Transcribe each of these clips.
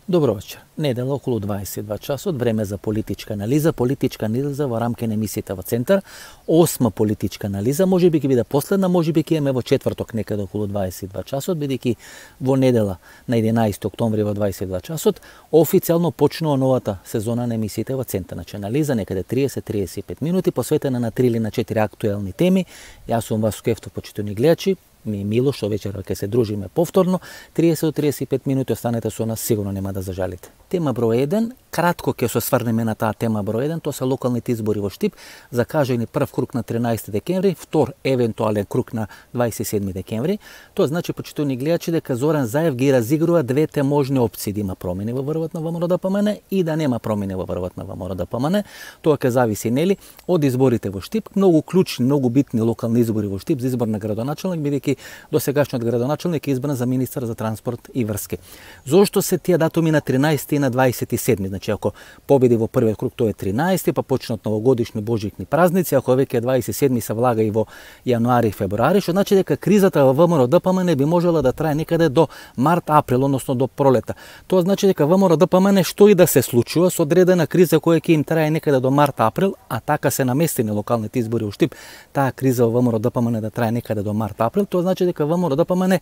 Добро вечер. Недела околу 22 часот, време за политичка анализа. Политичка анализа во рамки на емисијата во Центар. 8 политичка анализа, може би ќе биде последна, може би ќе имаме во четврток некаде околу 22 часот, бидејќи во недела на 11 октомври во 22 часот официјално почнува новата сезона на емисијата во Центар. Значи анализа некаде 30-35 минути посветена на 3 или на 4 актуелни теми. Јас сум Васко Ефтов, почитувани гледачи. Ми е мило што вечера ќе се дружиме повторно. 30-35 минути останете со нас, сигурно нема да зажалите. Тема број 1, кратко ќе се сврнеме на таа тема број 1, тоа се локалните избори во Штип, закажани прв круг на 13 декември, втор евентуален круг на 27 декември. Тоа значи, почитувани гледачи, дека Зоран Заев ги разигрува двете можни опции, да има промени во врвот на ВМРО-ДПМН и да нема промени во врвот на ВМРО-ДПМН. Тоа ќе зависи, нели, од изборите во Штип, многу клучни, многу битни локални избори во Штип за избор на градоначелник, бидејќи досегашниот градоначелник е избран за министар за транспорт и врски. Зошто се тие датуми на 13 и на 27? Значи, ако победи во првиот круг, тоа е 13, па почнат новогодишни божикни празници, ако веќе 27 се влага и во јануари и февруари, што значи дека кризата во ВМРО-ДПМН би можела да трае некаде до март-април, односно до пролета. Тоа значи дека ВМРО-ДПМН што и да се случува со одредена криза која ќе им трае некаде до март-април, а така се наместени локалните избори во Штип, таа криза во ВМРО-ДПМН да трае некаде до март-април, тоа значи дека ВМРО-ДПМН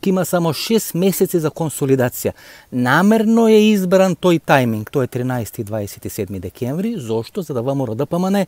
ќе има само 6 месеци за консолидација. Намерно е избран тој тајминг, тоа е 13 и 27 декември, зошто? За да ВМРО-ДПМН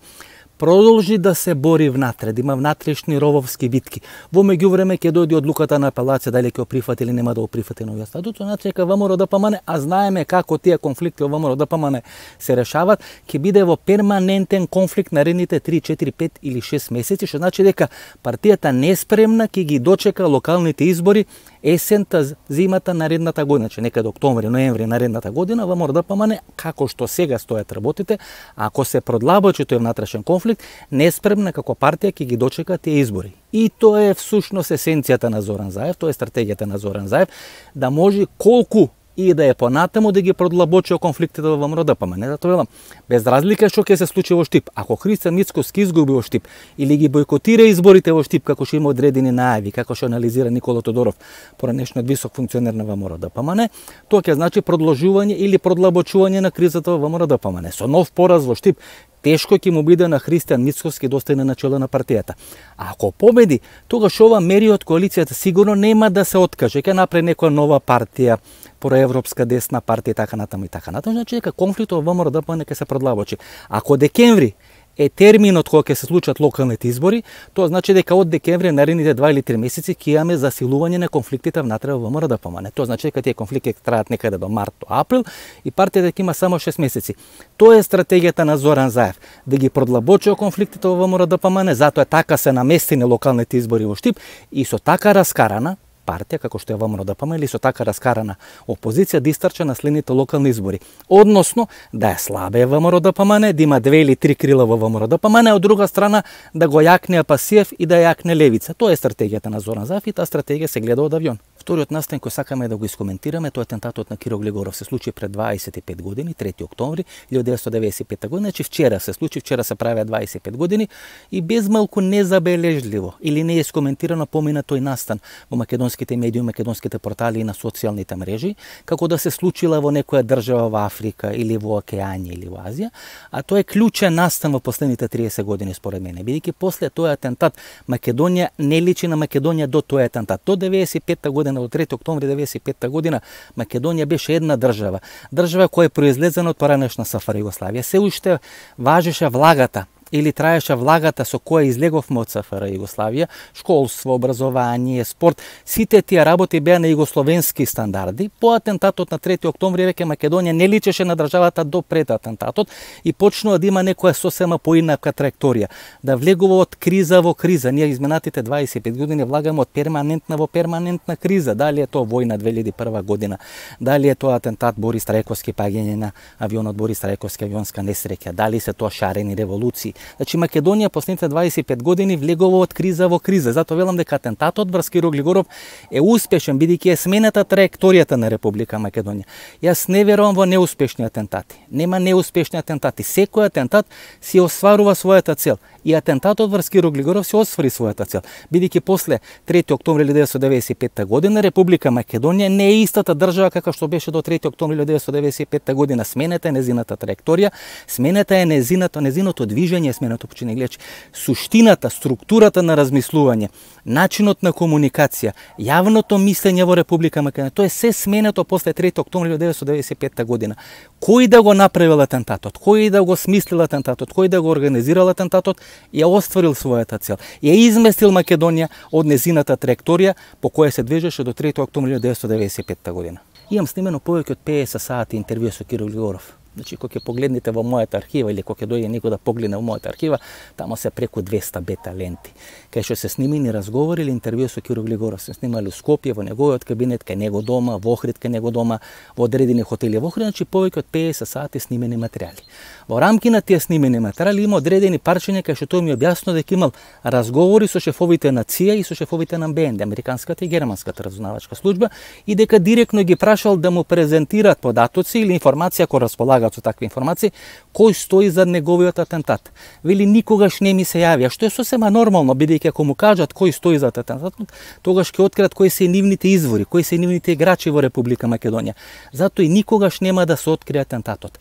продолжи да се бори внатре, да има внатрешни рововски битки. Во меѓувреме ќе дојде одлуката на апелација дали ќе го прифати или нема да го прифати новиот статут, значи дека ВМРО-ДПМН, а знаеме како тие конфликти во ВМРО-ДПМН се решаваат, ќе биде во перманентен конфликт наредните 3, 4, 5 или 6 месеци, што значи дека партијата неспремна ќе ги дочека локалните избори есента, зимата наредната година, значи некаде октомври, ноември наредната година, ВМРО-ДПМН, како што сега стојат работите, ако се продлабочи тој внатрешен конфликт, неспремна како партија ќе ги дочека тие избори. И тоа е всушност есенцијата на Зоран Заев, тоа е стратегијата на Зоран Заев, да може колку и да е понатаму да ги продлабочи конфликтите во ВМРО-ДПМН. Затоа велам, без разлика што ќе се случи во Штип, ако Христијан Мицкоски изгуби во Штип или ги бойкотира изборите во Штип, како што има одредени најави, како што анализира Никола Тодоров, поранешниот висок функционер на ВМРО-ДПМН, тоа ќе значи продолжување или продлабочување на кризата во ВМРО-ДПМН. Со нов пораз во Штип, тешко ќе му биде на Христијан Мицкоски да остане на чело на партијата. А ако победи, тогаш ова мери од коалицијата сигурно нема да се откаже, ќе направи некоја нова партија, проевропска десна партија и така натаму и така натаму, значи дека конфликтот во ВМРО-ДПМН ќе се продлабочи. Ако декември е терминот кога ќе се случат локалните избори, тоа значи дека од декември наредните 2 или 3 месеци ќе имаме засилување на конфликтите внатре во ВМРО-ДПМН. Тоа значи дека тие конфликти ќе траат некаде до март, до април и партијата ќе има само 6 месеци. Тоа е стратегијата на Зоран Заев, да ги продлабочи конфликтите во ВМРО-ДПМН, затоа така се наместени локалните избори во Штип и со така раскарана партија, како што е ВМРО-ДПМН, или со така раскарана опозиција да истрча на следните локални избори. Односно, да е слабе ВМРО-ДПМН, да има 2 или 3 крила во ВМРО-ДПМН, а од друга страна да го јакне Апасиев и да јакне Левица. Тоа е стратегијата на Зоран Заев и таа стратегија се гледа од авион. Вториот настан кој сакаме да го искоментираме, тоа е атентатот на Киро Глигоров, се случи пред 25 години, 3 октомври 1995 година, значи вчера се случи, вчера се правеа 25 години и без малку незабележливо или не е искоментирано помина тој настан во македонските медиуми, македонските портали и на социјалните мрежи, како да се случила во некоја држава во Африка или во Океанија или во Азија, а тоа е клучен настан во последните 30 години според мене, бидејќи после тој атентат Македонија не личи на Македонија до тој атентат. До 95 година, до 3 октомври 95 година, Македонија беше една држава која е произлезена од поранешна СФР Југославија. Се уште важеше влагата или траеше влагата со која излеговме од СФР Југославија, школство, образование, спорт, сите тие работи беа на југословенски стандарди. По атентатот на 3 октомври веќе Македонија не личеше на државата до пред атентатот и почнува да има некоја сосема поинака траекторија, да влегува од криза во криза. Ние изминатите 25 години влагаме од перманентна во перманентна криза. Дали е тоа војна 2001 година, дали е тоа атентат Борис Трајковски, паѓање на авионот Борис Трајковски, авионска несреќа, дали се тоа шарени револуции, Значи Македонија последните 25 години влегува од криза во криза. Затоа велам дека атентатот врз Киро Глигоров е успешен бидејќи е смената траекторијата на Република Македонија. Јас не верувам во неуспешни атентати. Нема неуспешни атентати. Секој атентат си остварува својата цел. И атентатот врз Киро Глигоров се оствари својата цел. Бидејќи после 3 октомври 1995 година Република Македонија не е истата држава како што беше до 3 октомври 1995 година. Смената е незината траекторија, смената е незиното движење, смената почини гледачи. Суштината, структурата на размислување, начинот на комуникација, јавното мислење во Република Македонија, тоа е се сменето после 3 октомври 1995 година. Кој да го направил атентатот, кој да го смислил атентатот, кој да го организирал атентатот, ја остварил својата цел. Ја изместил Македонија од незината траекторија по која се движеше до 3 октомври 1995 година. Имам снимено повеќе од 50 сати интервју со Киро Глигоров. Значи, кога ќе погледнете во мојата архива или кога ќе дојде некој да погледне во мојата архива, тамо се преку 200 бета ленти. Кај што се снимени разговори или интервју со Киро Глигоров, се снимали во Скопје, во неговиот кабинет, кај него дома, во Охрид, кај него дома, во одредени хотели во Охрид, значи повеќе од 50 сати снимени материјали. Во рамки на тие снимени материјали има одредени парчиња кај што тој ми објаснува дека имал разговори со шефовите на ЦИА и со шефовите на БНД, американската и германската разузнавачка служба, и дека директно ги прашал да му презентираат податоци или информација која располагаат со такви информации, кој стои за неговиот атентат. Вели никогаш не ми се јавија, што е сосема нормално, бидејќи ако му кажат кој стои за атентатот, тогаш ќе откриат кои се нивните извори, кои се нивните играчи во Република Македонија. Затоа и никогаш нема да се открие атентатот.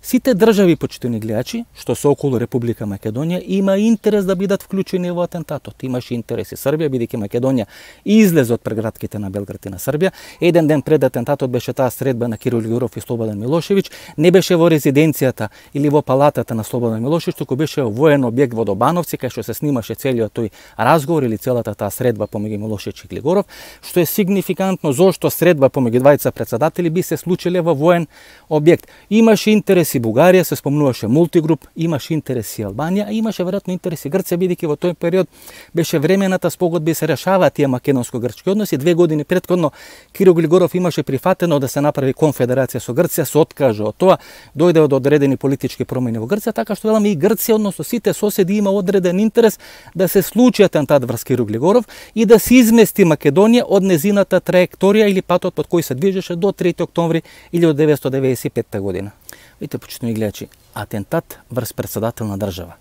Сите држави, почитувани гледачи, што се околу Република Македонија, има интерес да бидат вклучени во атентатот. Имаше интерес и Србија, бидејќи Македонија излезе од прегратките на Белград и на Србија. Еден ден пред атентатот беше таа средба на Киро Глигоров и Слободан Милошевиќ. Не беше во резиденцијата или во палатата на Слободан Милошевиќ, туку беше во воен објект во Добановци, кај што се снимаше целиот тој разговор или целата таа средба помеѓу Милошевиќ и Глигоров, што е сигнификантно зошто средба помеѓу двајца претседатели би се случиле во воен објект. Имаше интерес и Бугарија, се спомнуваше Мултигруп, имаше интерес и Албанија, а имаше веројатно интерес и Грција, бидејќи во тој период беше времената спогодба и се решаваат тие македонско-грчки односи. 2 години претходно Киро Глигоров имаше прифатено да се направи конфедерација со Грција, се откажа од тоа, дојде од одредени политички промени во Грција, така што веламе и Грција, односно сите соседи има одреден интерес да се случи атентат врз Киро Глигоров и да се измести Македонија од незината траекторија или патот под кој се движеше до 3 октомври 1995 година. Видите, почитувани гледачи, атентат врз претседател на држава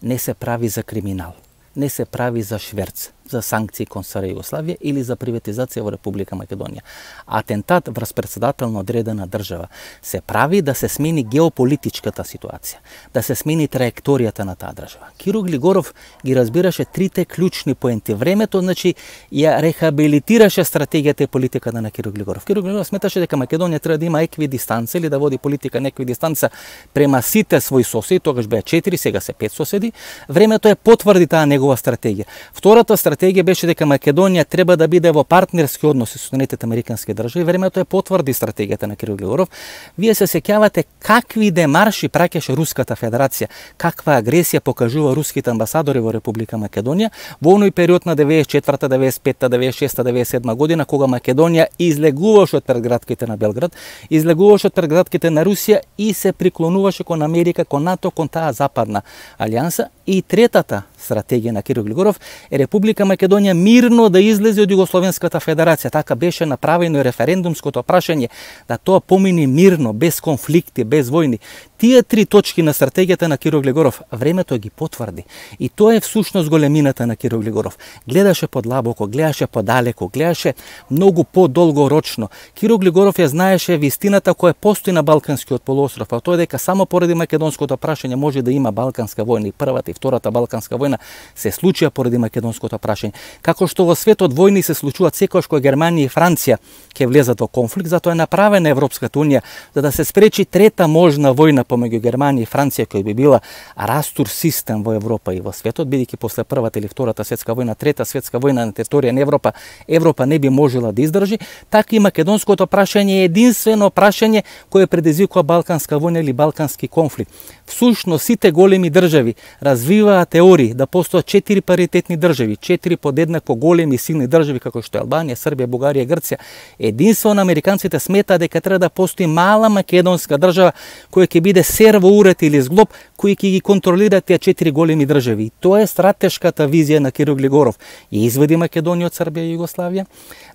не се прави за криминал, не се прави за шверц, за санкции кон Сарајево Југославија или за приватизација во Република Македонија. Атентат врз претседател на одредена држава се прави да се смени геополитичката ситуација, да се смени траекторијата на таа држава. Киро Глигоров ги разбираше трите клучни поенти. Времето, значи, ја рехабилитираше стратегијата и политиката на Киро Глигоров. Киро Глигоров сметаше дека Македонија треба да има еквидистанца или да води политика на еквидистанца према сите своји соседи, тогаш беа 4, сега се 5 соседи. Времето е потврди таа негова стратегија. Втората стратегија беше дека Македонија треба да биде во партнерски односи со Соединетите американски држави. Времето е потврди стратегијата на Киро Глигоров. Вие се сеќавате какви демарши праќаше Руската Федерација, каква агресија покажува руските амбасадори во Република Македонија во оној период на 94-та, 95-та, 96-та, 97-та година, кога Македонија излегуваше од предградките на Белград, излегуваше од предградките на Русија и се приклонуваше кон Америка, кон НАТО, кон таа западна алијанса. И третата стратегија на Киро Глигоров е Република Македонија мирно да излезе од Југословенската федерација. Така беше направено и референдумското прашање, да тоа помине мирно, без конфликти, без војни. Тие три точки на стратегијата на Киро Глигоров времето ги потврди. И тоа е всушност големината на Киро Глигоров. Гледаше подлабоко, гледаше подалеку, гледаше многу подолгорочно. Киро Глигоров ја знаеше вистината која постои на Балканскиот полуостров, а тоа е дека само поради македонското прашање може да има Балканска војна. И првата и втората Балканска војна се случија поради македонското прашање. Како што во светот војни се случуваат секогаш кога Германија и Франција ќе влезат во конфликт, затоа е направена Европската унија за да се спречи трета можна војна помеѓу Германија и Франција, која би била растур систем во Европа и во светот, бидејќи после првата или втората светска војна, трета светска војна на територија на Европа не би можела да издржи, така и македонското прашање е единствено прашање кое предизвикува Балканска војна или Балкански конфликт. Всушност сите големи држави развиваат теории да постојат 4 паритетни држави, 4 подеднакво големи и силни држави како што е Албанија, Србија, Бугарија и Грција. Единствено американците сметаат дека треба да постои мала македонска држава која ќе биде биде серво уред или зглоб кои ќе ги контролираат тие 4 големи држави. Тоа е стратешката визија на Киро Глигоров. Ја изведи Македонија од Србија и Југославија,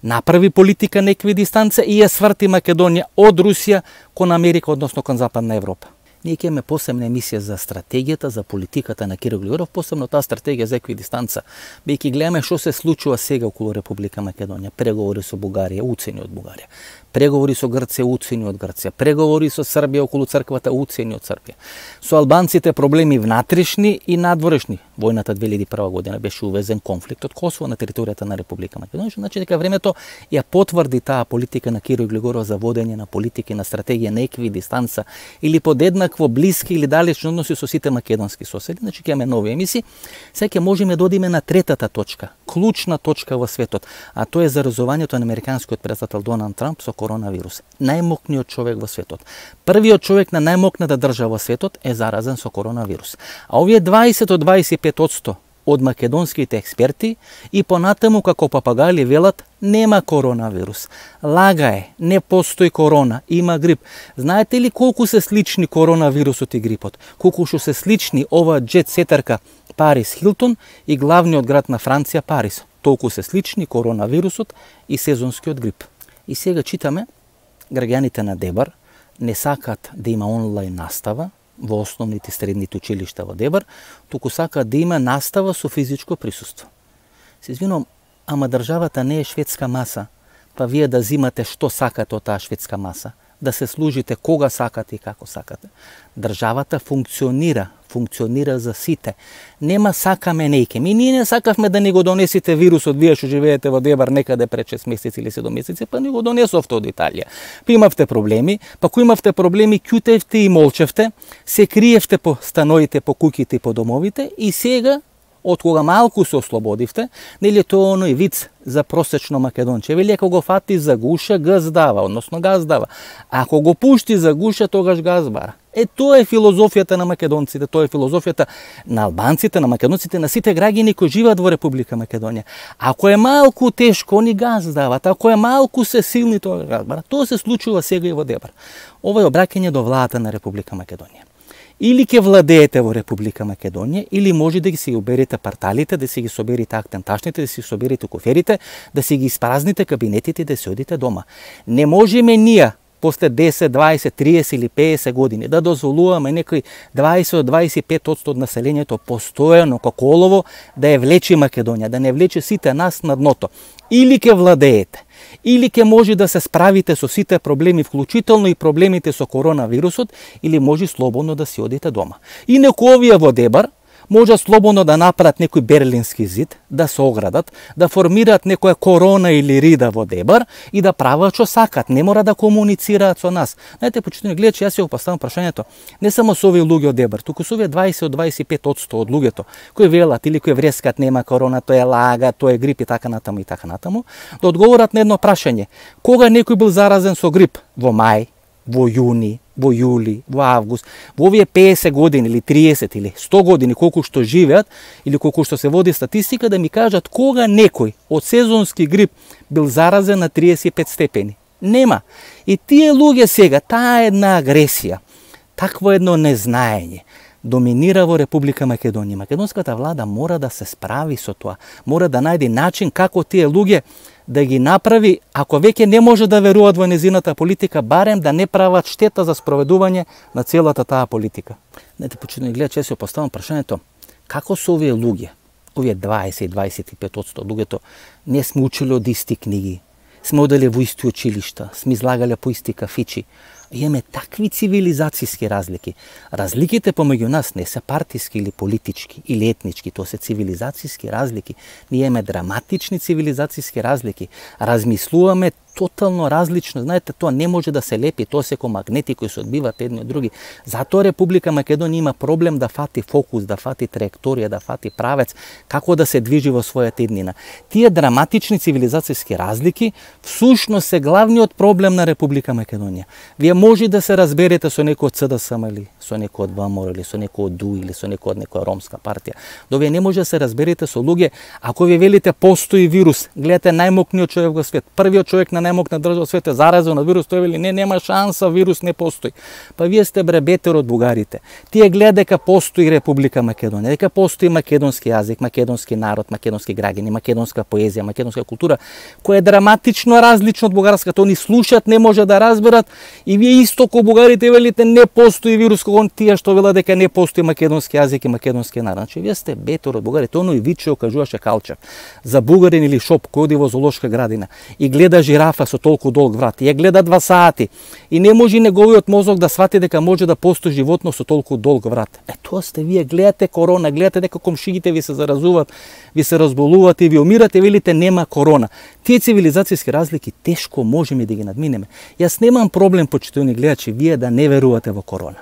направи политика на еквидистанца и ја сврти Македонија од Русија кон Америка, односно кон Западна Европа. Ние ќе имаме посебна емисија за стратегијата, за политиката на Киро Глигоров, посебно таа стратегија за еквидистанца. Бејќи гледаме што се случува сега околу Република Македонија, преговори со Бугарија, уцени од Бугарија, преговори со Грција, уцени од Грција, преговори со Србија околу црквата, уцени од Србија. Со албанците проблеми внатрешни и надворешни. Војната 2001 година беше увезен конфликт од Косово на територијата на Република Македонија, значи дека времето ја потврди таа политика на Киро Глигоров за водење на политики на стратегија на еквидистанца или подеднакво блиски или далечни односи со сите македонски соседи. Значи ќе имаме нови емисии. Сега ќе можеме да одиме на третата точка, клучна точка во светот, а тоа е заразувањето на американскиот претседател Доналд Трамп со коронавирус. Најмокниот човек во светот. Првиот човек на најмокната држава во светот е заразен со коронавирус. А овие 20 до 25% од македонските експерти и понатаму како папагали велат нема коронавирус. Лага е, не постои корона, има грип. Знаете ли колку се слични коронавирусот и грипот? Колку што се слични ова джет сетарка Парис Хилтон и главниот град на Франција Парис. Толку се слични коронавирусот и сезонскиот грип. И сега читаме, граѓаните на Дебар не сакат да има онлайн настава во основните средните училишта во Дебар, туку сакаат да има настава со физичко присуство. Се извинувам, ама државата не е шведска маса, па вие да зимате што сакате од таа шведска маса, да се служите кога сакате и како сакате. Државата функционира за сите. Нема сакаме нејке. Ние не сакавме да ни го донесите вирусот, вие што живеете во Дебар некаде пред 6 месеци или 7 месеци, па ни го донесовте од Италија. Па имавте проблеми, па кој имавте проблеми, ќутевте и молчевте, се криевте по становите, по куќите и по домовите и сега од кога малку се ослободивте, нели тоа оној виц за просечно македонче. Вели ако го фати за гуша, газ дава, односно газ дава. Ако го пушти за гуша, тогаш газ бара. Тоа е филозофијата на македонците, тоа е филозофијата на албанците, на македонците, на сите граѓани кои живеат во Република Македонија. Ако е малку тешко, они газ дават. Ако е малку се силни, тоа газ бара. Тоа се случува сега и во Дебар. Ова е обраќање до владата на Република Македонија. Или ќе владеете во Република Македонија, или може да ги си оберете парталите, да си ги соберите актенташните, да си соберите коферите, да си ги испразните кабинетите и да си одите дома. Не можеме ние, после 10, 20, 30 или 50 години, да дозволуваме некои 20 до 25% од населението постојано како олово да ја влече Македонија, да не влече сите нас на дното. Или ќе владеете, или ќе може да се справите со сите проблеми, вклучително и проблемите со коронавирусот, или може слободно да си одите дома. Инаку овие во Дебар може слободно да направат некој берлински зид, да се оградат, да формираат некоја корона или рида во Дебар и да прават што сакат, не мора да комуницираат со нас. Знаете, почитувани гледачи, јас ја поставам прашањето не само со овие луѓе од Дебар, туку со овие 20 до 25% од луѓето кои велат или кои врескат нема корона, тоа е лага, тоа е грип и така натаму и така натаму, да одговорат на едно прашање. Кога некој бил заразен со грип? Во мај, во јуни, во јули, во август, во овие 50 години или 30 или 100 години колку што живеат или колку што се води статистика, да ми кажат кога некој од сезонски грип бил заразен на 35 степени. Нема. И тие луѓе сега, таа една агресија, такво едно незнаење, доминира во Република Македонија. Македонската влада мора да се справи со тоа. Мора да најде начин како тие луѓе да ги направи, ако веќе не може да веруваат во незината политика, барем да не прават штета за спроведување на целата таа политика. Знаете, почитувани гледачи, јас си поставам прашањето, како со овие луѓе, овие 20-25% луѓето, не сме учили од исти книги, сме одели во исти училишта, сме излагале по исти кафичи, имаме такви цивилизацијски разлики. Разликите помеѓу нас не се партиски или политички или етнички, тоа се цивилизацијски разлики. Ние имаме драматични цивилизацијски разлики. Размислуваме тотално различно. Знаете, тоа не може да се лепи, тоа се ко магнети кои се одбиваат едни од други. Затоа Република Македонија има проблем да фати фокус, да фати траекторија, да фати правец, како да се движи во својата иднина. Тие драматични цивилизацијски разлики всушност се главниот проблем на Република Македонија. Вие може да се разберете со некој од СДСМ или со некој од ВМРО или со некој од ДУ или со некој од некоја ромска партија. Да вие не може да се разберете со луѓе, ако ви велите постои вирус, гледате најмокниот човек во свет, првиот човек на најмокна држава во свет е заразен од вирус, тој вели не, нема шанса, вирус не постои. Па вие сте бетер од бугарите. Тие гледа дека постои Република Македонија, дека постои македонски јазик, македонски народ, македонски граѓани, македонска поезија, македонска култура, која е драматично различна од бугарската. Они слушаат, не може да разберат и вие исто ко бугарите велите не постои вирус, кога тие што велат дека не постои македонски јазик и македонски народ. Значи вие сте бетер од бугарите. Оној виче кажуваше Калчев за бугарин или шоп кој оди во зоолошка градина и гледа жирафа со толку долг врат. Ја гледа 2 сати и не може неговиот мозок да свати дека може да постои животно со толку долг врат. Тоа сте вие, гледате корона, гледате дека комшиите ви се заразуваат, ви се разболувате и ви умирате, велите нема корона. Тие цивилизацијски разлики тешко можеме да ги надминеме. Јас немам проблем, почитувани гледачи, вие да не верувате во корона.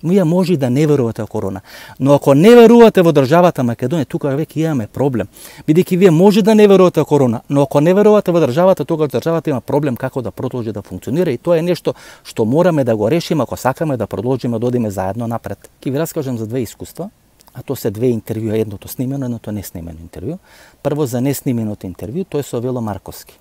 Вие може да не верувате во корона, но ако не верувате во државата Македонија, тука веќе имаме проблем. Бидејќи вие може да не верувате во корона, но ако не верувате во државата, тогаш државата има проблем како да продолжи да функционира и тоа е нешто што мораме да го решиме ако сакаме да продолжиме да одиме заедно напред. Ќе ви раскажам за 2 искуства, а тоа се 2 интервјуа, едното снимено, едното неснимено интервју. Прво за неснименото интервју, тоа е со Вело Марковски.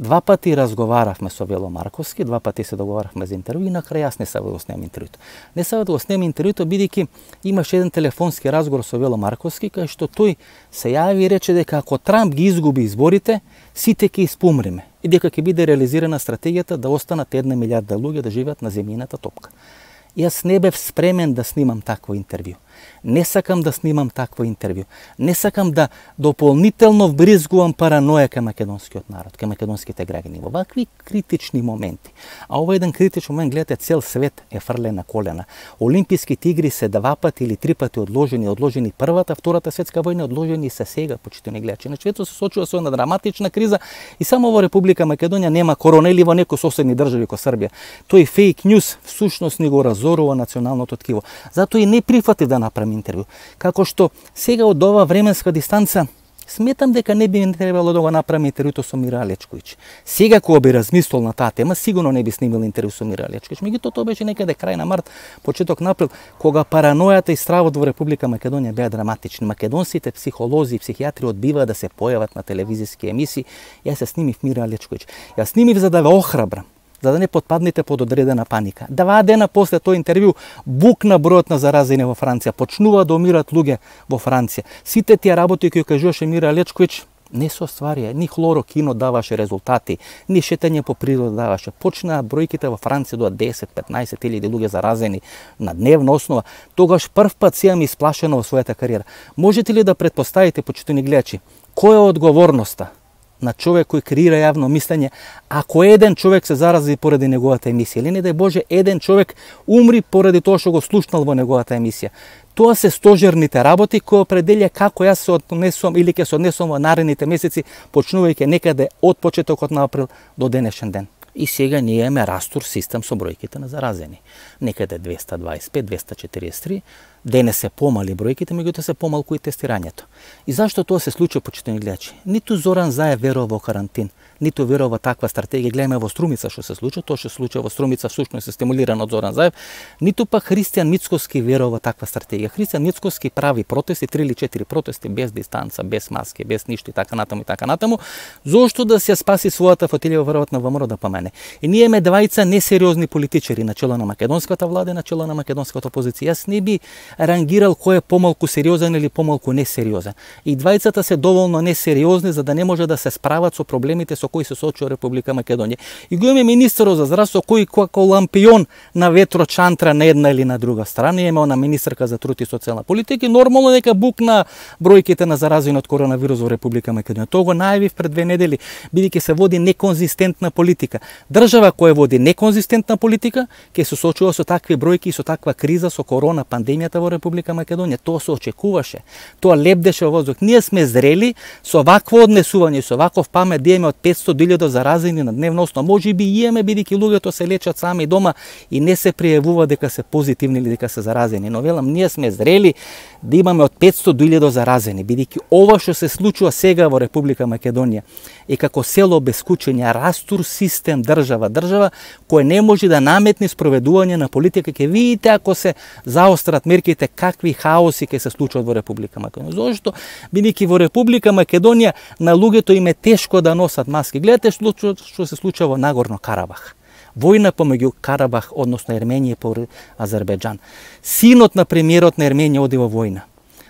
2 пати разговаравме со Вело Марковски, 2 пати се договаравме за интервју и на крај јас не сакав да го снемам интервјуто. Не сакав да го снемам интервјуто бидејќи имаше еден телефонски разговор со Вело Марковски кај што тој се јави и рече дека ако Трамп ги изгуби изборите, сите ќе испумреме и дека ќе биде реализирана стратегијата да останат 1 милијарда луѓе да живеат на земјината топка. Јас не бев спремен да снимам такво интервју. Не сакам да снимам такво интервју. Не сакам да дополнително вбризгувам параноја кај македонскиот народ, кај македонските граѓани во вакви критични моменти. А ова еден критичен момент, гледате, цел свет е фрлен на колена. Олимписките игри се 2 пати или 3 пати одложени првата, втората светска војна одложени се сега, почитувани гледачи. Значи, светот се сочува со една драматична криза и само во Република Македонија нема корона или во некои соседни држави како Србија. Тој фейк ньюс всушност ни го разорува националното ткиво. Затоа и не прифатив да направам интервју. Како што сега од ова временска дистанца сметам дека не би требало да го направам интервјуто со Мира Алечковиќ. Сега кога би размислил на таа тема, сигурно не би снимал интервју со Мира Алечковиќ. Меѓутоа тоа беше некаде крај на март, почеток на април, кога паранојата и стравот во Република Македонија беа драматични. Македонските психолози и психијатри одбиваа да се појават на телевизиски емисии. Јас се снимив Мира Алечковиќ. Јас снимив за да ве охрабрам, за да не потпаднете под одредена паника. 2 дена после тој интервју букна бројот на заразени во Франција, почнува да умират луѓе во Франција. Сите тие работи кои кажуваше Мира Алечковиќ не се остварија, ни хлорокино даваше резултати, ни шетање по природа даваше. Почнаа бројките во Франција до 10-15 илјади луѓе заразени на дневна основа. Тогаш прв пат си имам исплашено во својата кариера. Можете ли да претпоставите, почитувани гледачи, која е одговорноста на човек кој креира јавно мислење, ако еден човек се зарази поради неговата емисија, или не дај Боже, еден човек умри поради тоа што го слушнал во неговата емисија. Тоа се стожерните работи кои определја како јас се однесувам или ќе се однесувам во наредните месеци, почнувајќи некаде од почетокот на април до денешен ден. И сега ние имаме растур систем со бројките на заразени. Некаде 225, 243, денес се помали бројките, меѓутоа се помалку и тестирањето. И зашто тоа се случува, почитувани гледачи? Ниту Зоран Заев верува во карантин, ниту верува во таква стратегија. Гледаме во Струмица што се случува, тоа што се случува во Струмица всушност е стимулирано од Зоран Заев, ниту пак Христијан Мицкоски верува во таква стратегија. Христијан Мицкоски прави протести, 3 или 4 протести без дистанца, без маски, без ништо и така натаму и така натаму, зошто да се спаси својата фотелија веројатно во ВМРО да помене. И ние имаме 2 несериозни политичари на чело на македонската влада и на чело на македонската опозиција. Јас не би рангирал кој е помалку сериозен или помалку несериозен. И 2 се доволно несериозни за да не може да се справат со проблемите со кои се соочува Република Македонија. И го имаме министерот за здравство кој како лампион на ветрочантра на една или на друга страна. Имаме она министерка за труд и социјална политика и нормално дека букна бројките на заразени од коронавирус во Република Македонија. Тоа го најавив пред 2 недели, бидејќи се води неконзистентна политика. Држава која води неконзистентна политика ќе се соочува со такви бројки и со таква криза со корона пандемијата во Република Македонија. Тоа се очекуваше. Тоа лебдеше во воздух. Ние сме зрели со вакво однесување, со ваков памет да имаме од 500.000 заразени на дневна основа. Може би имаме, бидејќи луѓето се лечат сами дома и не се пријавува дека се позитивни или дека се заразени. Но велам, ние сме зрели да имаме од 500.000 заразени, бидејќи ова што се случува сега во Република Македонија е како село без кучиња, растур систем држава кој не може да наметне спроведување на политика. Ќе видите ако се заострат мерките какви хаоси ќе се случат во Република Македонија. Зошто? Бидејќи во Република Македонија на луѓето им е тешко да носат маски. Гледате што се случува во Нагорно Карабах. Војна помеѓу Карабах, односно Ерменија и Азербејџан. Синот на премиерот на Ерменија оди во војна.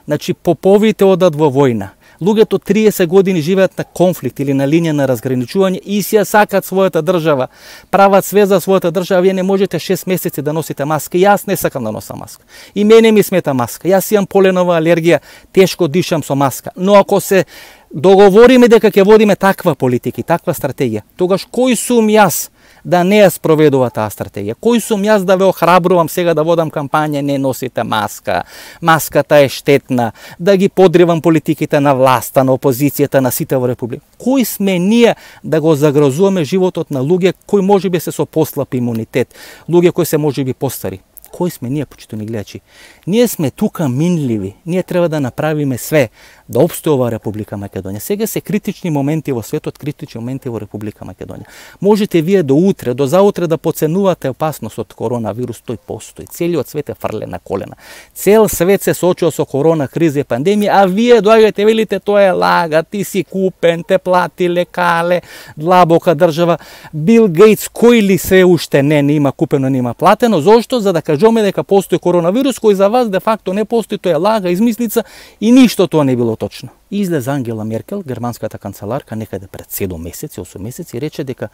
Значи поповите одат во војна. Луѓето 30 години живеат на конфликт или на линија на разграничување и си ја сакат својата држава. Прават све за својата држава, вие не можете 6 месеци да носите маска. Јас не сакам да носам маска. И мене ми смета маска. Јас имам поленова алергија, тешко дишам со маска. Но ако се договориме дека ќе водиме таква политика и таква стратегија, тогаш кој сум јас да не ја спроведува таа стратегија? Кој сум јас да ве охрабрувам сега да водам кампања не носите маска, маската е штетна, да ги подривам политиките на власта, на опозицијата, на сите во Република? Кој сме ние да го загрозуваме животот на луѓе кои можеби се со послаб имунитет, луѓе кои се можеби постари? Кои сме ние, почитувани гледачи? Ние сме тука минливи. Ние треба да направиме све да опстојува Република Македонија. Сега се критични моменти во светот, критични моменти во Република Македонија. Можете вие до утре, до заутре да поценувате опасност од коронавирус, тој постои. Целиот свет е фрлен на колена. Цел свет се соочува со корона криза и пандемија, а вие доаѓате велите тоа е лага, ти си купен, те плати лекале, длабока држава. Бил Гейтс кој ли се уште не има купено, не има платено? Зошто? За да кажеме дека постои коронавирус кој за вас де факто не постои, тоа е лага, измислица и ништо тоа не било точно. Излезе Ангела Меркел, германската канцеларка, некаде пред 7 месеци, 8 месеци, и рече дека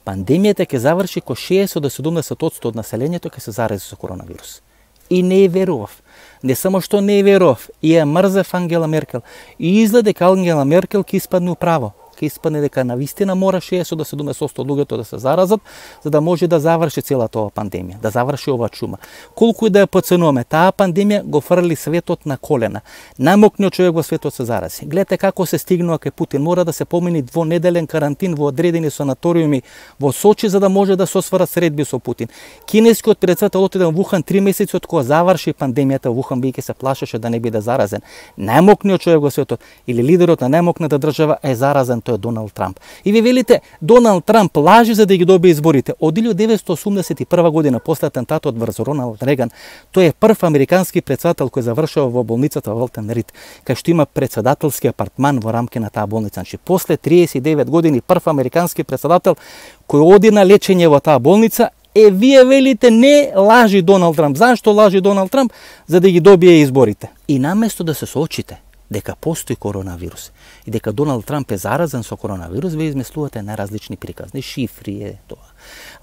пандемијата ќе заврши ко 60 до 70% од населението ќе се зарази со коронавирус. И не ја верував. Не само што не ја верував, и ја мрзев Ангела Меркел. И изгледа дека Ангела Меркел ќе испадне управо. Ќе испадне дека навистина мора 60 до 70% од луѓето да се заразат, за да може да заврши целата ова пандемија, да заврши ова чума. Колку и да ја поценуваме, таа пандемија го фрли светот на колена. Најмокниот човек во светот се зарази. Гледате како се стигнува кај Путин. Мора да се помени двонеделен карантин во одредени санаториуми во Сочи за да може да се осварат средби со Путин. Кинескиот претседател отиде во Вухан 3 месеци од кога заврши пандемијата во Вухан, бидејќи се плашеше да не биде заразен. Најмокниот човек во светот или лидерот на најмокната држава е заразен, тој е Доналд Трамп. И ви велите, Доналд Трамп лажи за да ги добие изборите. Од 1981 година, после атентатот врз Роналд Реган, тој е прв американски претседател кој завршува во болницата во Волтен Рид, кај што има претседателски апартман во рамки на таа болница. Значи, после 39 години прв американски претседател кој оди на лечење во таа болница. Вие велите не лажи Доналд Трамп. Зашто лажи Доналд Трамп? За да ги добие изборите. И наместо да се соочите дека постои коронавирус и дека Доналд Трамп е заразен со коронавирус, вие измислувате најразлични приказни, шифри е тоа,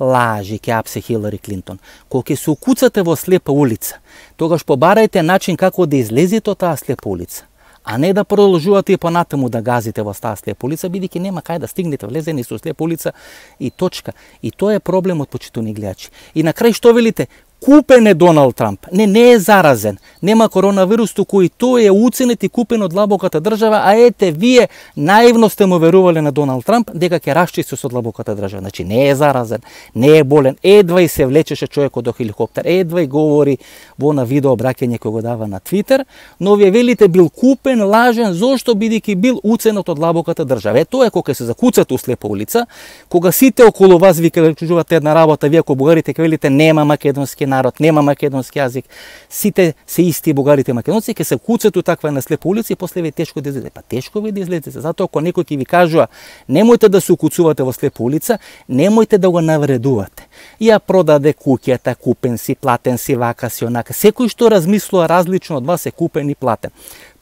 лажи, ќе апсе Хилари Клинтон. Кога ќе се укуцате во слепа улица, тогаш побарајте начин како да излезете од таа слепа улица, а не да продолжувате и понатаму да газите во таа слепа улица, бидејќи нема кај да стигнете, влезени со слепа улица и точка. И тоа е проблемот, почитувани гледачи. И на крај што велите? Купен е Доналд Трамп. Не е заразен. Нема коронавирус, туку и тој е уценет и купен од длабоката држава, а ете, вие наивно сте му верувале на Доналд Трамп дека ќе расчисти со длабоката држава. Значи, не е заразен, не е болен. Едва и се влечеше човекот до хеликоптер, едва и говори во на видео обраќање кој го дава на Твитер, но вие велите бил купен, лажен, зошто бидејќи бил уценет од длабоката држава. Е, тоа е кога се закуцате у слепа улица, кога сите околу вас ви кажуваат една работа, вие ако бугарите ќе велите нема македонски народ, нема македонски јазик, сите се исти бугарите македонци, ќе се куцат у таква на слепа улица и после ви е тешко да излезете. Па тешко ви да излезете, затоа ако некој ќе ви кажува немојте да се укуцувате во слепа улица, немојте да го навредувате. Ја продаде куќата, купен си, платен си, вака си, онака. Секој што размислува различно од вас е купен и платен.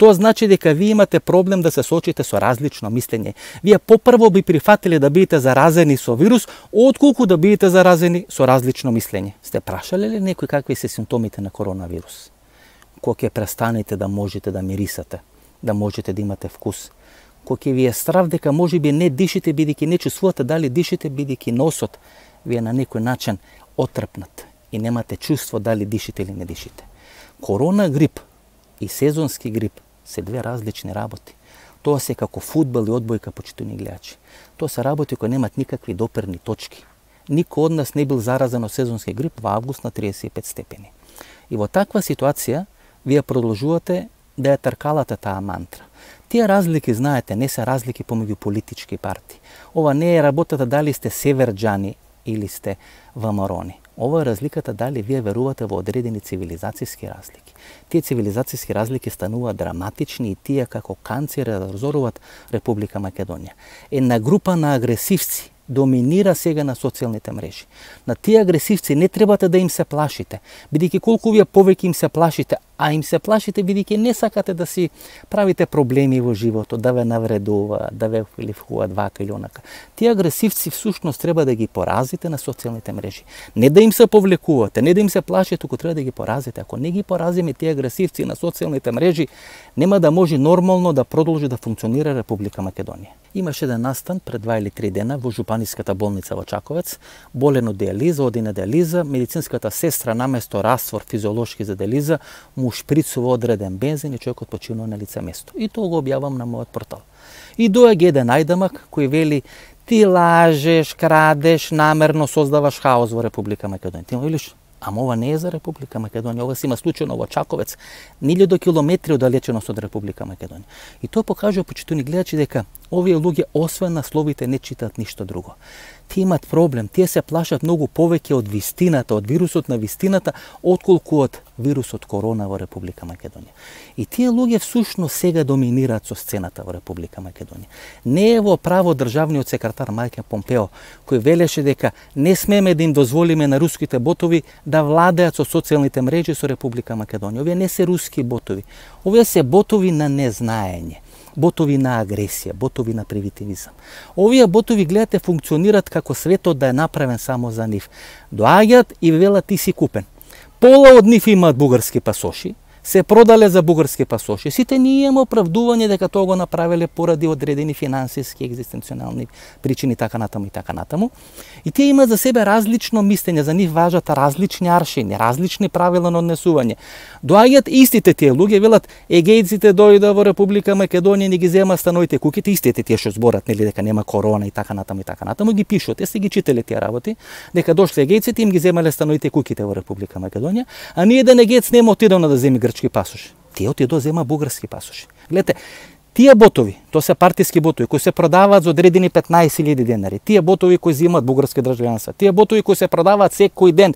Тоа значи дека вие имате проблем да се соочите со различно мислење. Вие попрво би прифатиле да бидете заразени со вирус, отколку да бидете заразени со различно мислење. Сте прашале ли некој какви се симптомите на коронавирус? Кога ќе престанете да можете да мирисате, да можете да имате вкус, кога ќе ви е страв дека можеби не дишите бидејќи не чувствувате дали дишите бидејќи носот ви е на некој начин отрпнат и немате чувство дали дишите или не дишите. Корона грип и сезонски грип се две различни работи. Тоа се како фудбал и одбојка, почитувани гледачи. Тоа се работи кои немат никакви доперни точки. Никој од нас не бил заразен од сезонски грип во август на 35 степени. И во таква ситуација вие продолжувате да ја тркалате таа мантра. Тие разлики, знаете, не се разлики помеѓу политички партии. Ова не е работата дали сте северџани или сте ВМРО-ни. Ова е разликата дали вие верувате во одредени цивилизацијски разлики. Тие цивилизацијски разлики стануваат драматични и тие како канцери разоруваат Република Македонија. Една група на агресивци доминира сега на социјалните мрежи. На тие агресивци не требате да им се плашите, бидејќи колку вие повеќе им се плашите, а им се плашите бидејќи не сакате да си правите проблеми во животот, да ве навредуваат, да ве ливхуваат вака или онака. Тие агресивци всушност треба да ги поразите на социјалните мрежи. Не да им се повлекувате, не да им се плашите, туку треба да ги поразите. Ако не ги поразиме тие агресивци на социјалните мрежи, нема да може нормално да продолжи да функционира Република Македонија. Имаше еден настан пред 2 или 3 дена во Жупаниската болница во Чаковец, болен од диализа, оди на диализа, медицинската сестра наместо раствор физиолошки за диализа му шприцува одреден бензин и човекот починува на лице место. И тоа го објавам на мојот портал. И доаѓа еден најдамак кој вели: ти лажеш, крадеш, намерно создаваш хаос во Република Македонија. Ти му велиш: ама ова не е за Република Македонија, ова се има случајно во Чаковец, 1000 километри оддалеченост од Република Македонија. И тоа покажува, почитувани гледачи, дека овие луѓе освен насловите не читаат ништо друго. Тие имат проблем, тие се плашат многу повеќе од вистината, од вирусот на вистината, отколку од вирусот корона во Република Македонија. И тие луѓе всушност сега доминираат со сцената во Република Македонија. Не е во право државниот секретар Майк Помпео, кој велеше дека не смеме да им дозволиме на руските ботови да владеат со социјалните мрежи со Република Македонија. Овие не се руски ботови, овие се ботови на незнаење, ботови на агресија, ботови на примитивизам. Овие ботови, гледате, функционираат како светот да е направен само за нив. Доаѓаат и велат: ти си купен. Пола од нив имаат бугарски пасоши, се продале за бугарски пасоши. Сите ние имаме оправдување дека тоа го направиле поради одредени финансиски, екзистенционални причини, така натаму и така натаму. И тие имаат за себе различно мислење, за нив важат различни аршини, различни правила на однесување. Доаѓаат истите тие луѓе, велат: егејците дојда во Република Македонија, не ги зема становите куките, истите тие што зборат, нели, дека нема корона и така натаму, ги пишат. Те сте ги читале тие работи, дека дошле егејците, им ги земале становите куките во Република Македонија, а ние еден егејец нема отидено да земи грчки пасош. Тие отидо зема бугарски пасоши. Гледате, тие ботови, тоа се партиски ботови кои се продаваат за одредени 15.000 денари. Тие ботови кои земаат бугарски државјанство, тие ботови кои се продаваат секој ден.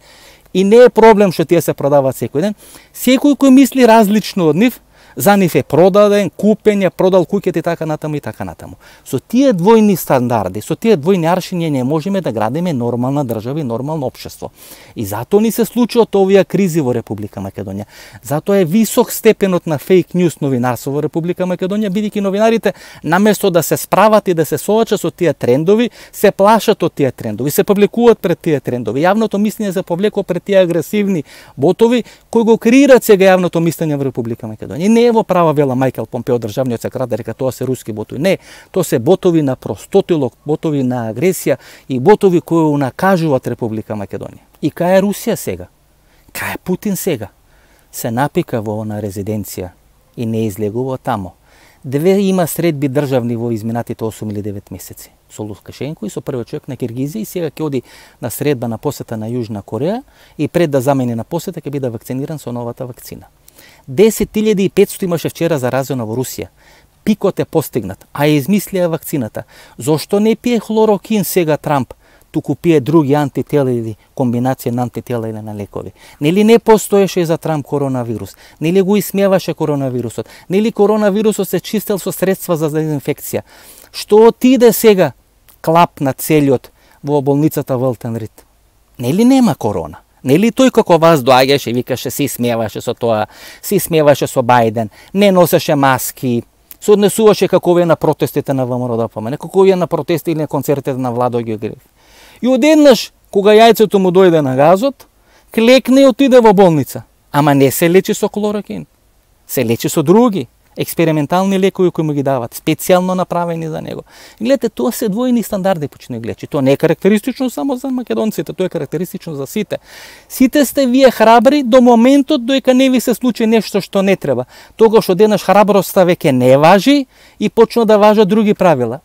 И не е проблем што тие се продаваат секој ден. Секој кој мисли различно од нив, за нив е продаден, купен, ја продал куќите и така натаму и така натаму. Со тие двојни стандарди, со тие двојни аршини не можеме да градиме нормална држава и нормално општество. И затоа ни се случуваат овие кризи во Република Македонија. Затоа е висок степенот на фейк ньюс новинарство во Република Македонија, бидејќи новинарите наместо да се справат и да се соочат со тие трендови, се плашат од тие трендови, се публикуваат пред тие трендови. Јавното мислење се повлекува пред тие агресивни ботови кои го креираат сега јавното мислење во Република Македонија. Не е во права вела Майкл Помпео, државниот секретар, дека тоа се руски ботови. Не, тоа се ботови на простотилок, ботови на агресија и ботови кои унакажуваат Република Македонија. И кај е Русија сега? Кај е Путин сега? Се напика во она резиденција и не излегува тамо. Две има средби државни во изминатите 8 или 9 месеци. Со Лукашенко и со првиот човек на Киргизија, и сега ќе оди на средба на посета на Јужна Кореја и пред да замени на посета ќе биде вакциниран со новата вакцина. 10.500 имаше вчера заразено во Русија. Пикот е постигнат, а ја измислија вакцината. Зошто не пие хлорокин сега Трамп, туку пие други антитела или комбинација на антитела или на лекови? Нели не постоеше за Трамп коронавирус? Нели го исмеваше коронавирусот? Нели коронавирусот се чистел со средства за дезинфекција? Што отиде сега клап на целиот во болницата Волтен Рид? Нели нема корона? Нели тој како вас доаѓаше и викаше, се смеваше со тоа, се смеваше со Бајден, не носеше маски, се однесуваше како овие на протестите на ВМРО ДПМН, како овие на протести или на концертите на Владо Ѓоргиев. И одеднаш, кога јајцето му дојде на газот, клекне и отиде во болница. Ама не се лечи со клорокин, се лечи со други експериментални лекови кои му ги дават, специјално направени за него. Гледате, тоа се двојни стандарди, почни гледачи. Тоа не е карактеристично само за македонците, тоа е карактеристично за сите. Сите сте вие храбри до моментот доека не ви се случи нешто што не треба. Тогаш одеднаш храброста веќе не важи и почна да важат други правила.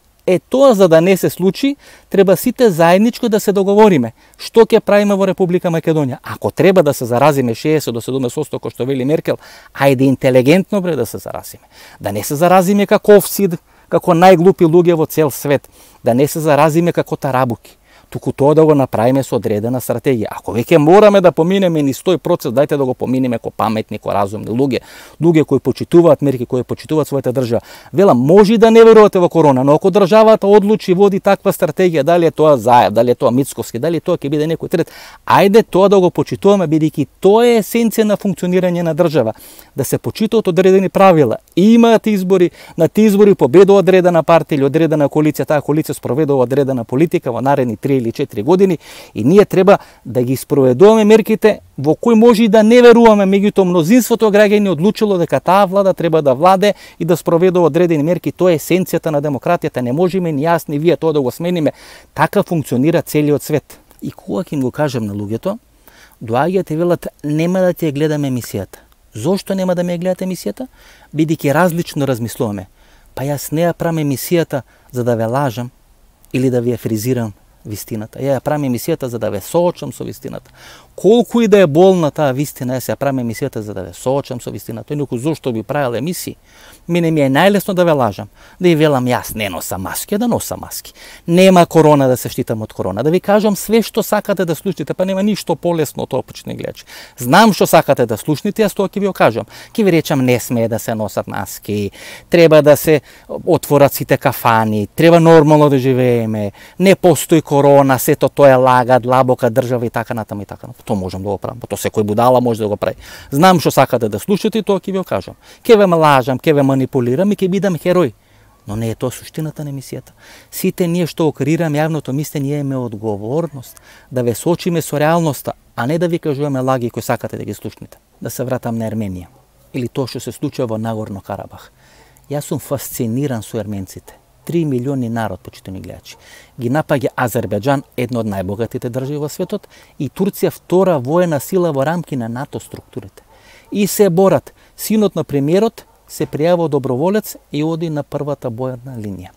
Тоа за да не се случи, треба сите заедничко да се договориме. Што ќе правиме во Република Македонија? Ако треба да се заразиме 60 до 70%, кој што вели Меркел, ајде интелигентно да се заразиме. Да не се заразиме како овци, како најглупи луѓе во цел свет. Да не се заразиме како тарабуки. Туку тоа да го направиме со одредена стратегија. Ако веќе мораме да поминеме низ тој процес, дајте да го поминеме ко паметни, ко разумни луѓе кои почитуваат мерки, кои почитуваат својата држава. Велам, може да не верувате во корона, но ако државата одлучи води таква стратегија, дали е тоа Заев, дали е тоа Мицковски, дали тоа ќе биде некој трет, ајде тоа да го почитуваме, бидејќи тоа е есенција на функционирање на држава, да се почитуваат одредени правила. Имаат избори, на тие избори победува одредена партија или одредена коалиција, таа коалиција спроведува одредена политика во наредни 3 или 4 години и ние треба да ги спроведуваме мерките во кои може и да не веруваме, меѓутоа мнозинството граѓани одлучило дека таа влада треба да владе и да спроведува одредени мерки. Тоа е есенцијата на демократијата. Не можеме ни јас ни вие тоа да го смениме. Така функционира целиот свет. И кога ќе им го кажам на луѓето, доаѓаат и велат нема да ќе гледаме емисијата. Зошто нема да ме гледате емисијата? Бидејќи различно размислуваме. Па јас не ја правам емисијата за да ве лажам или да ви ја фризирам вистината. Ја правам емисијата за да ве соочам со вистината. Колку и да е болна таа вистина, јас ја правам емисијата за да ве соочам со вистината. Тој некој зошто би правил емисии? Мене ми е најлесно да ве лажам. Да ја велам јас не носам маски, да носам маски. Нема корона да се штитам од корона. Да ви кажам све што сакате да слушнете, па нема ништо полесно од тоа, почитни гледачи. Знам што сакате да слушнете, јас тоа ќе ви го кажам. Ќе ви речам не смее да се носат маски, треба да се отворат сите кафани, треба нормално да живееме, не постои корона, сето тоа е лага, длабока држава и така натаму и така натаму. Тоа можам да го правам, тоа секој будала може да го прави. Знам што сакате да слушате и тоа ќе ви го кажам. Ќе ве лажам, ќе ве манипулирам и ќе бидам херој. Но не е тоа суштината на емисијата. Сите ние што го креираме јавното мислење, ние имаме одговорност да ве соочиме со реалноста, а не да ви кажуваме лаги кои сакате да ги слушнете. Да се вратам на Ерменија или тоа што се случува во Нагорно Карабах. Јас сум фасциниран со ерменците. 3 милиони народ, почитани гледачи. Ги напаѓа Азербејџан, една од најбогатите држави во светот, и Турција, втора воена сила во рамки на НАТО структурите. И се борат. Синот на премиерот се пријавува доброволец и оди на првата бојна линија.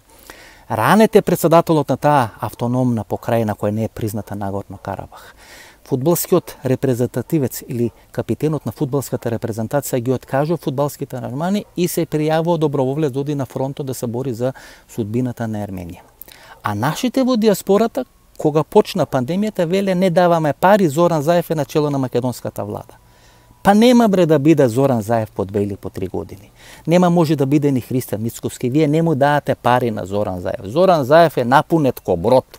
Ранете председателот на таа автономна покрајна која не е призната Нагорно Карабах. Фудбалскиот репрезентативец или капитенот на фудбалската репрезентација ги откажува фудбалските аранжмани и се пријавува доброволец оди на фронтот да се бори за судбината на Ерменија. А нашите во диаспората, кога почна пандемијата, веле не даваме пари, Зоран Заев е начело на македонската влада. Па нема бре да биде Зоран Заев по 2 или по 3 години. Нема може да биде ни Христијан Мицковски. Вие не му давате пари на Зоран Заев. Зоран Заев е напунет ко брод.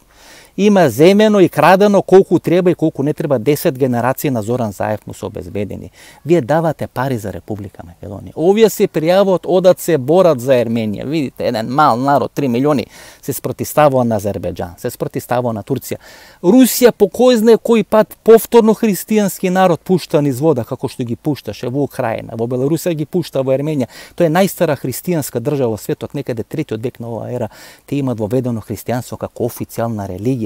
Има земено и крадено колку треба и колку не треба. 10 генерации на Зоран Заев му се обезбедени. Вие давате пари за Република Македонија. Овие се пријавуваат, одат се борат за Ерменија. Видите, еден мал народ, 3 милиони, се спротиставува на Азербејџан, се спротиставува на Турција. Русија по кој знае кој пат повторно христијански народ пушта низ вода, како што ги пушташе во Украина, во Белорусија ги пушта во Ерменија. Тоа е најстара христијанска држава во светот, некаде 3-тиот век на оваа ера, те имаат воведено христијанство како официјална религија.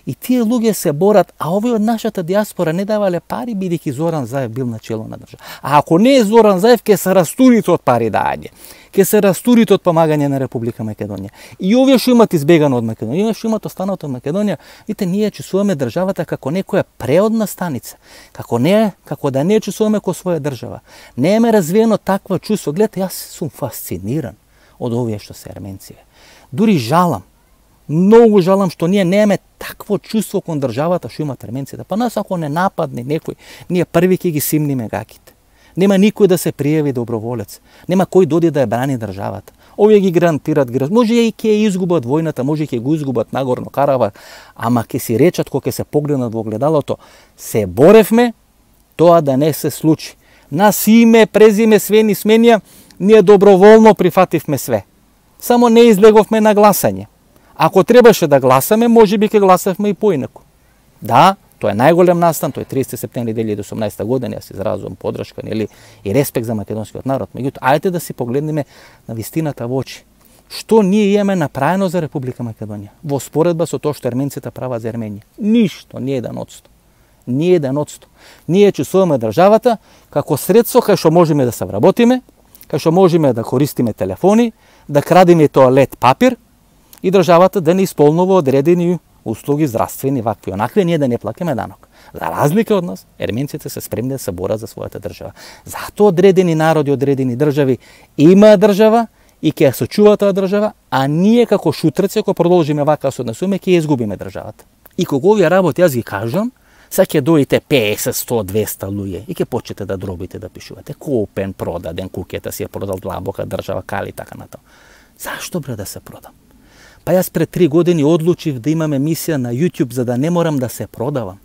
И тие луѓе се борат, а овие од нашата диаспора не давале пари, бидејќи Зоран Заев бил начело на држава. А ако не е Зоран Заев, ќе се растурите од пари дање. Ќе се растурите од помагање на Република Македонија. И овие што имат избегано од Македонија, овие што имат останато од Македонија, видите, ние чувствуваме државата како некоја преодна станица, како да не чувствуваме ко своја држава. Не е развиено такво чувство. Гледате, јас сум фасциниран од овие што се ерменци. Дури жалам. Многу жалам што ние немаме такво чувство кон државата што имат ерменците. Па нас ако не нападне некој, ние први ќе ги симниме гаките. Нема никој да се пријави доброволец. Нема кој доди да ја брани државата. Овие ги гарантират град. Може и ќе изгубат војната, може и ќе го изгубат Нагорно Карабах, ама ќе си речат кога ќе се погледнат во огледалото, се боревме тоа да не се случи. Нас име, презиме, све ни сменија, ние доброволно прифативме све. Само не излеговме на гласање. Ако требаше да гласаме, може би ќе гласавме и поинаку. Да, тоа е најголем настан, тоа е 30 септември 2018 година, јас изразувам подршка и респект за македонскиот народ. Меѓутоа, ајде да си погледнеме на вистината во очи. Што ние имаме направено за Република Македонија во споредба со тоа што ерменците прават за Ерменија? Ништо, ни 1%. Ни 1%. Ние чувствуваме државата како средство кај што можеме да се вработиме, кај што можеме да користиме телефони, да крадеме тоалет папир, и државата да не исполнува одредени услуги здравствени, вакви онакви, ние да не плакаме данок. За разлика од нас, ерменците се спремни да се борат за својата држава. Затоа одредени народи, одредени држави имаа држава и ќе ја сочува таа држава, а ние како шутреци, ако продолжиме вака се однесуваме, ќе ја изгубиме државата. И кога овие работи јас ги кажам, сега ќе дојдете 50, 100, 200 луѓе и ќе почнете да дробите, да пишувате купен, продаден, куќата си ја продал длабока држава, кали така натаму. Зашто бре да се продам? Па јас пред 3 години одлучив да имам емисија на YouTube за да не морам да се продавам.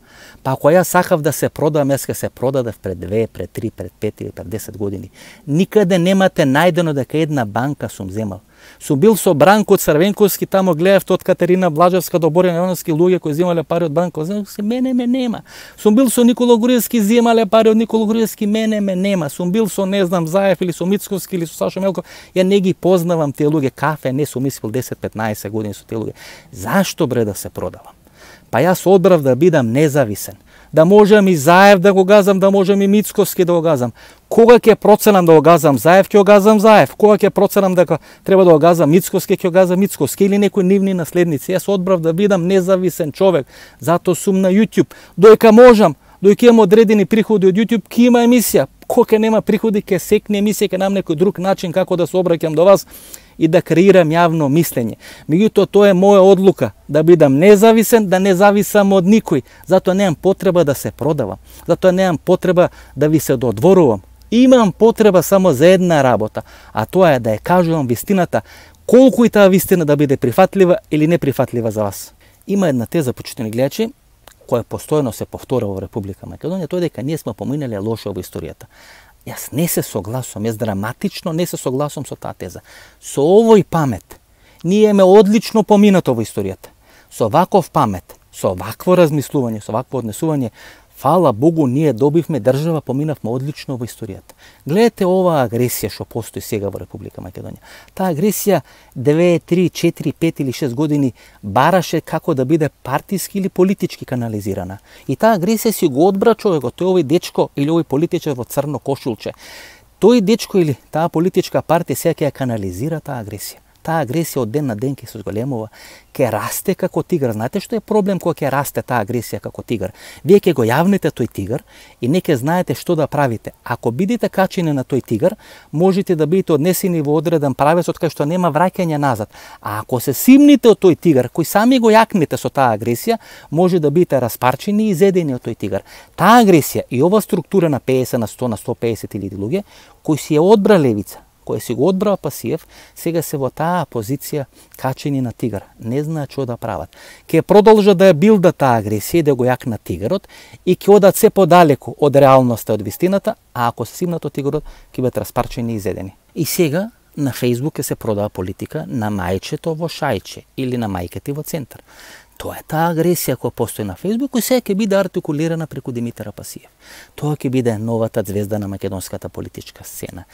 Па ако јас сакав да се продавам, јас ќе се продадев пред 2, пред 3, пред 5 или пред 10 години. Никаде немате најдено дека една банка сум земал. Сум бил со Бранко Црвенковски, тамо гледав од Катерина Блажевска до Борјан Јовановски луѓе кои земале пари од Бранко. Мене ме нема. Сум бил со Никола Груевски, земале пари од Никола Груевски, мене ме нема. Сум бил со не знам Заев или со Мицковски или со Сашо Мелков. Ја не ги познавам тие луѓе, кафе не сум испил 10-15 години со тие луѓе. Зашто бре да се продавам? Па јас одбрав да бидам независен. Да можам и Заев да го газам, да можам и Мицковски да го газам. Кога ќе проценам да го газам Заев, ќе го газам Заев. Кога ќе проценам дека треба да го газам Мицковски, ќе го газам Мицковски или некои нивни наследници. Јас одбрав да бидам независен човек. Затоа сум на YouTube. Дојка можам, дојка имам одредени приходи од YouTube, ќе има емисија. Кога нема приходи, ќе секне емисија, ќе нам некој друг начин како да се обраќам до вас и да креирам јавно мислење. Меѓутоа, тоа е моја одлука, да бидам независен, да не зависам од никој. Затоа немам потреба да се продавам. Затоа немам потреба да ви се додворувам. Имам потреба само за една работа, а тоа е да ја кажувам вистината, колку и таа вистина да биде прифатлива или неприфатлива за вас. Има една теза, почитани гледачи, која постојано се повторува во Република Македонија, тоа е дека ние сме поминале лошо во историјата. Јас не се согласувам, јас драматично не се согласувам со таа теза. Со овој памет, ние ме одлично поминато во историјата. Со ваков памет, со вакво размислување, со вакво однесување, фала Богу, ние добивме држава, поминавме одлично во историјата. Гледате оваа агресија што постои сега во Република Македонија. Таа агресија 2, 3, 4, 5 или 6 години бараше како да биде партиски или политички канализирана. И таа агресија си го одбра човекот, тој овој дечко или овој политичар во црно кошулче. Тој дечко или таа политичка партија сега ќе ја канализира таа агресија. Таа агресија од ден на ден ќе се зголемува, ќе расте како тигар. Знаете што е проблем кога ќе расте таа агресија како тигар? Вие ќе го јавните тој тигар и не ќе знаете што да правите. Ако бидете качени на тој тигар, можете да бидете однесени во одреден правец од кај што нема враќање назад. А ако се симните од тој тигар, кој сами го јакнете со таа агресија, може да бидете распарчени и изедени од тој тигар. Таа агресија и ова структура на 50 на 100 на 150 илјади луѓе кои си ја одбра левица, кој си го одбрава Пасиев, сега се во таа позиција качени на тигар. Не знаат што да прават. Ке продолжат да ја билда таа агресија, да го јакнат тигарот и ќе одат се подалеку од реалноста, од вистината, а ако се симнат од тигарот, ќе бидат распарчени и изедени. И сега на Фејсбук се продава политика на мајчето во Шајче или на мајката во Центар. Тоа е таа агресија која постои на Фејсбук и сега ќе биде артикулирана преку Димитар Пасиев. Тоа ќе биде новата звезда на македонската политичка сцена.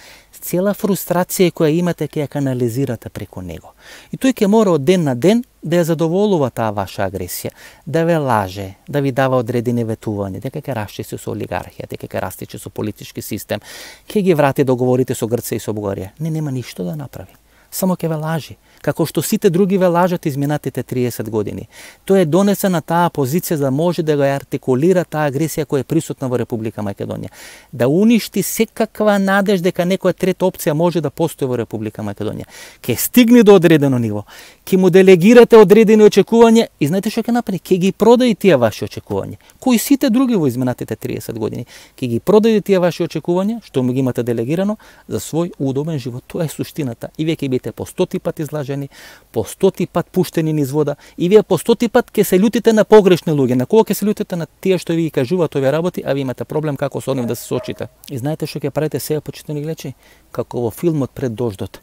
Цела фрустрација која имате ќе ја канализирате преку него. И тој ќе мора од ден на ден да ја задоволува таа ваша агресија, да ве лаже, да ви дава одредени ветувања, дека ќе расчисти со олигархија, дека ќе растичи со политички систем, ќе ги врати договорите со Грција и со Бугарија. Нема ништо да направи. Само ќе ве лажи, како што сите други ве лажат изминатите 30 години. Тој е донесен на таа позиција за да може да го артикулира таа агресија која е присутна во Република Македонија. Да уништи секаква надеж дека некоја трета опција може да постои во Република Македонија. Ке стигне до одредено ниво, ке му делегирате одредени очекувања и знаете што ќе направи? Ке ги продаде тие ваши очекувања, кои сите други во изминатите 30 години. Ке ги продаде тие ваши очекувања, што му ги имате делегирано, за свој удобен живот. Тоа е суштината. И вие ќе бидете по 100 пат излажени, по 100 пат пуштени низ вода и вие по 100 пат ќе се лутите на погрешни луѓе. На кога ќе се лутите на тие што ви кажуваат овие работи, а ви имате проблем како со нив да се соочите. И знаете што ќе правите сега, почитани гледачи? Како во филмот Пред дождот.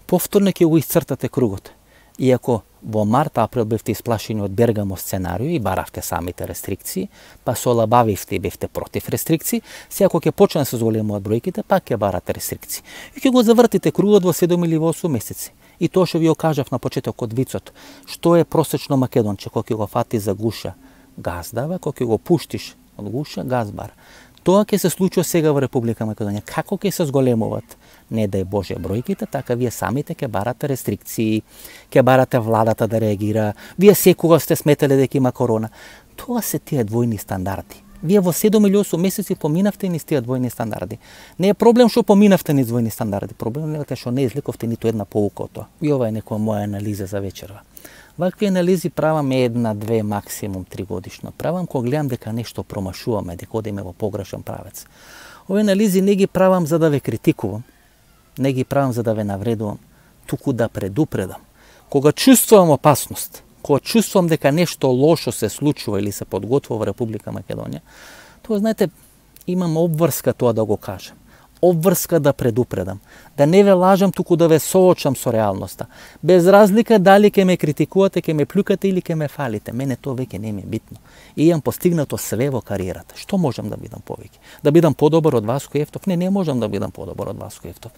Повторно ќе го исцртате кругот. Иако во март-април бевте исплашени од Бергамо сценарио и баравте самите рестрикции, па се олабавивте и бевте против рестрикции, сега кога ќе почне да се зголемуваат бројките, пак ќе барате рестрикции. И ќе го завртите кругот во 7 или 8 месеци. И тоа што ви го кажав на почетокот вицот, што е просечно македонче, кога ќе го фати за гуша, газ дава, кога ќе го пуштиш од гуша, газ бара. Тоа ќе се случува сега во Република Македонија. Како ќе се зголемуваат, не дај Боже, бројките, така вие самите ќе барате рестрикции, ќе барате владата да реагира. Вие секогаш сте сметале дека има корона. Тоа се тие двојни стандарди. Вие во 7 или 8 месеци поминавте низ тие двојни стандарди. Не е проблем што поминавте низ двојни стандарди, проблем е што не извлековте ниту една поука од тоа. И ова е некоја моја анализа за вечерва. Вакви анализи правам 1, 2, максимум 3 годишно. Правам кога гледам дека нешто промашуваме, дека одиме во погрешен правец. Овие анализи не ги правам за да ве критикувам, не ги правам за да ве навредувам, туку да предупредам. Кога чувствувам опасност, кога чувствувам дека нешто лошо се случува или се подготвува во Република Македонија, тоа, знаете, имам обврска тоа да го кажам. Обврска да предупредам. Да не ве лажам, туку да ве соочам со реалноста. Без разлика дали ќе ме критикувате, ќе ме плюкате или ќе ме фалите. Мене тоа веќе не ми е битно. И имам постигнато све во кариерата. Што можам да бидам повеќе? Да бидам подобар од Васко Евтов? Не можам да бидам подобар од Васко Евтов.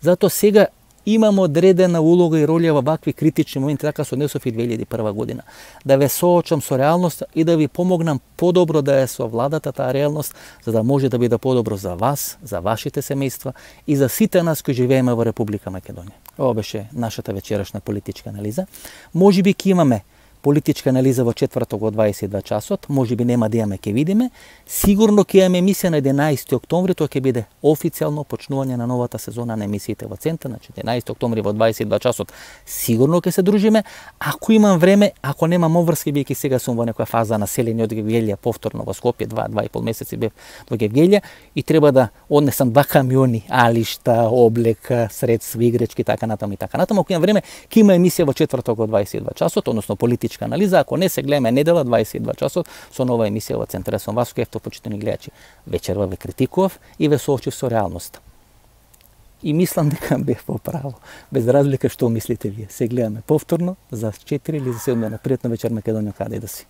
Затоа сега имам одредена улога и роља во вакви критични моменти, така со однесов и 2001 година. Да ве соочам со реалноста и да ви помогнам подобро да е со владата таа реалност, за да може да биде подобро за вас, за вашите семејства и за сите нас кои живееме во Република Македонија. Ова беше нашата вечерашна политичка анализа. Можеби ќе имаме политичка анализа во четврток во 22 часот, можеби нема да имаме, ќе видиме. Сигурно ќе имаме емисија на 11 октомври, тоа ќе биде официјално почнување на новата сезона на емисиите во Центар, значи 11 октомври во 22 часот. Сигурно ќе се дружиме. Ако имам време, ако немам обврски, биејќи сега сум во некоја фаза на селење од Гевгелија повторно во Скопје, 2,5 месеци бев во Гевгелија и треба да однесам 2 камиони, алишта, облека, средства, играчки, така натаму и така натаму. Ако имам време, ќе има емисија во четврток во 22 часот, односно политичка анализа. Ако не, се гледаме недела 22 часот со нова емисија во Центар. Сум Васко Евтов, почитани гледачи. Вечерва ве критикував и ве соочив со реалноста. И мислам дека бев во право. Без разлика што мислите вие. Се гледаме повторно за 4 или за 7 дена. Пријатна вечер, Македонија, каде и да си.